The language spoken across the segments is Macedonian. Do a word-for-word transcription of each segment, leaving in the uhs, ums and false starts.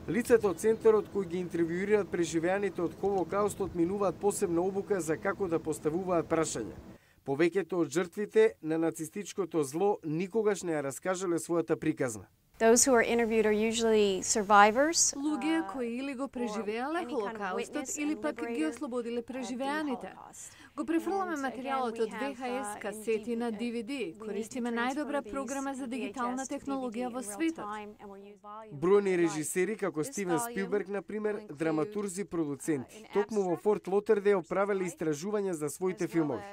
Лицата од центарот кои ги интервјуираат преживеаните од Холокаустот минуваат посебна обука за како да поставуваат прашања. Повеќето од жртвите на нацистичкото зло никогаш не ја раскажале својата приказна. Those who are interviewed are usually survivors. Луѓе кои или го преживеале Холокаустот или пак ги ослободиле преживеаните. Го префрламе материјалот од ви ха ес касети на ди ви ди. Користиме најдобра програма за дигитална технологија во светот. Бројни режисери како Стивен Спилберг, например, драматурзи, продуценти, токму во Форт Лотердейл правеле истражувања за своите филмови.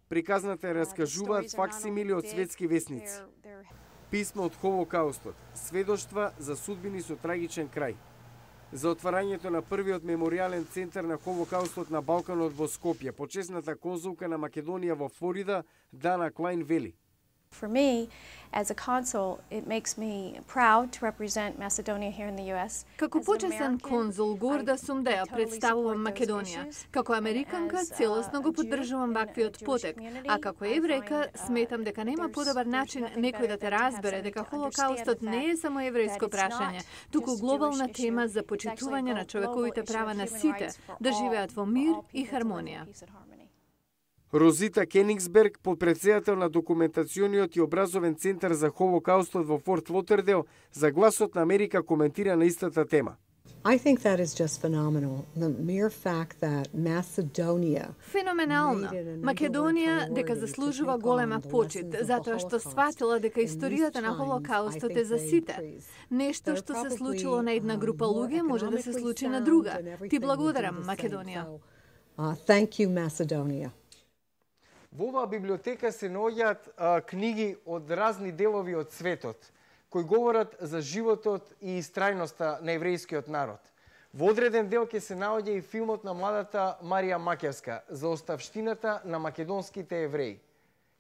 Приказната ја раскажуваат факсимили од светски весници. Писмо од Холокаустот, сведоштва за судбини со трагичен крај. За отварањето на првиот меморијален центар на Холокаустот на Балканот во Скопје, почесната конзулка на Македонија во Флорида, Дана Клайн вели: For me, as a consul, it makes me proud to represent Macedonia here in the U S. Како почесен конзул, горда сум да ја представувам Македонија. Како американка, целосно го поддржувам ваквиот потек, а како еврејка, сметам дека нема подобар начин некој да те разбере дека Холокаустот не е само еврејско прашање, туку глобална тема за почитување на човековите права на сите, да живеат во мир и хармонија. Розита Кенингсберг, подпредседател на документациониот и образовен центар за Холокаустот во Форт Лотердейл, за Гласот на Америка коментира на истата тема. I think that is just phenomenal. The mere fact that Macedonia Феноменално. Македонија дека заслужува голема почит, затоа што сватила дека историјата на Холокаустот е за сите. Нешто што се случило на една група луѓе може да се случи на друга. Ти благодарам, Македонија. Uh, thank you, Macedonia. Во оваа библиотека се наоѓаат книги од разни делови од светот, кои говорат за животот и истрајноста на еврејскиот народ. Во одреден дел ќе се наоѓа и филмот на младата Марија Макевска за оставштината на македонските евреи.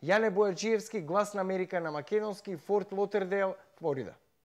Јане Бојаджиевски, Глас на Америка на македонски, Форт Лотердейл, Флорида.